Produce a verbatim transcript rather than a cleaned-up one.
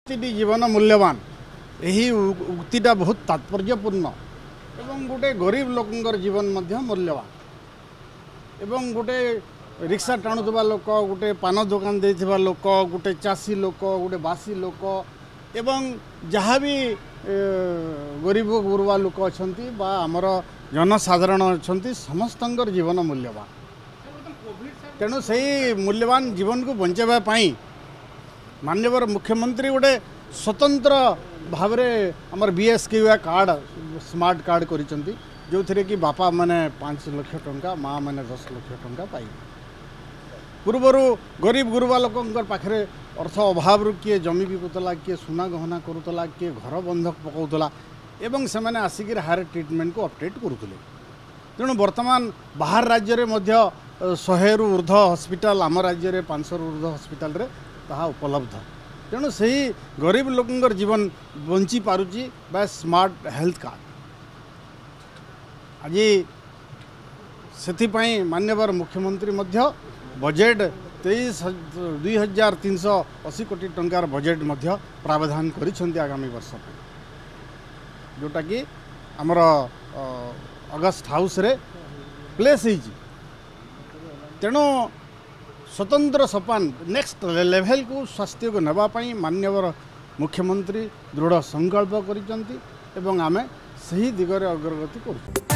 ପ୍ରତିଟି ଜୀବନ ମୂଲ୍ୟବାନ, ଏହି ଉକ୍ତିଟା ବହୁତ ତାତ୍ପର୍ଯ୍ୟପୂର୍ଣ୍ଣ ଏବଂ ଗୋଟେ ଗରିବ ଲୋକଙ୍କର ଜୀବନ ମଧ୍ୟ ମୂଲ୍ୟବାନ ଏବଂ ଗୋଟେ ରିକ୍ସା ଟାଣୁଥିବା ଲୋକ, ଗୋଟେ ପାନ ଦୋକାନ ଦେଇଥିବା ଲୋକ, ଗୋଟେ ଚାଷୀ ଲୋକ, ଗୋଟେ ବାସୀ ଲୋକ ଏବଂ ଯାହା ବି ଗରିବ ଗୁରୁବା ଲୋକ ଅଛନ୍ତି ବା ଆମର ଜନସାଧାରଣ ଅଛନ୍ତି, ସମସ୍ତଙ୍କର ଜୀବନ ମୂଲ୍ୟବାନ। ତେଣୁ ସେଇ ମୂଲ୍ୟବାନ ଜୀବନକୁ ବଞ୍ଚାଇବା ପାଇଁ ମାନ୍ୟବର ମୁଖ୍ୟମନ୍ତ୍ରୀ ଗୋଟେ ସ୍ୱତନ୍ତ୍ର ଭାବରେ ଆମର B S K Y card, smart card କରିଛନ୍ତି, ଯେଉଁଥିରେ କି ବାପା ମାନେ ପାଞ୍ଚ ଲକ୍ଷ ଟଙ୍କା, ମା' ମାନେ ଦଶ ଲକ୍ଷ ଟଙ୍କା ପାଇବେ। ପୂର୍ବରୁ ଗରିବ ଗୁରୁବା ଲୋକଙ୍କ ପାଖରେ ଅର୍ଥ ଅଭାବରୁ କିଏ ଜମି ବିକୁଥିଲା, କିଏ ସୁନା ଗହନା କରୁଥିଲା, କିଏ ଘର ବନ୍ଧକ ପକାଉଥିଲା ଏବଂ ସେମାନେ ଆସିକିରି ହାୟର ଟ୍ରିଟମେଣ୍ଟକୁ ଅପଡେଟ୍ କରୁଥିଲେ। ତେଣୁ ବର୍ତ୍ତମାନ ବାହାର ରାଜ୍ୟରେ ମଧ୍ୟ ଶହେରୁ ଉର୍ଦ୍ଧ୍ୱ ହସ୍ପିଟାଲ, ଆମ ରାଜ୍ୟରେ ପାଞ୍ଚଶହରୁ ଉର୍ଦ୍ଧ୍ୱ ହସ୍ପିଟାଲରେ ତାହା ଉପଲବ୍ଧ। ତେଣୁ ସେହି ଗରିବ ଲୋକଙ୍କର ଜୀବନ ବଞ୍ଚି ପାରୁଛି ବା ସ୍ମାର୍ଟ ହେଲ୍ଥ କାର୍ଡ଼। ଆଜି ସେଥିପାଇଁ ମାନ୍ୟବର ମୁଖ୍ୟମନ୍ତ୍ରୀ ମଧ୍ୟ ବଜେଟ୍ ତେଇଶ ଦୁଇ ହଜାର ତିନିଶହ ଅଶୀ କୋଟି ଟଙ୍କାର ବଜେଟ୍ ମଧ୍ୟ ପ୍ରାବଧାନ କରିଛନ୍ତି ଆଗାମୀ ବର୍ଷ ପାଇଁ, ଯେଉଁଟାକି ଆମର ଅଗଷ୍ଟ ହାଉସ୍ରେ ପ୍ଲେସ୍ ହେଇଛି। ତେଣୁ ସ୍ୱତନ୍ତ୍ର ସୋପାନ ନେକ୍ସଟ ଲେଭେଲକୁ ସ୍ୱାସ୍ଥ୍ୟକୁ ନେବା ପାଇଁ ମାନ୍ୟବର ମୁଖ୍ୟମନ୍ତ୍ରୀ ଦୃଢ଼ ସଂକଳ୍ପ କରିଛନ୍ତି ଏବଂ ଆମେ ସେହି ଦିଗରେ ଅଗ୍ରଗତି କରୁଛୁ।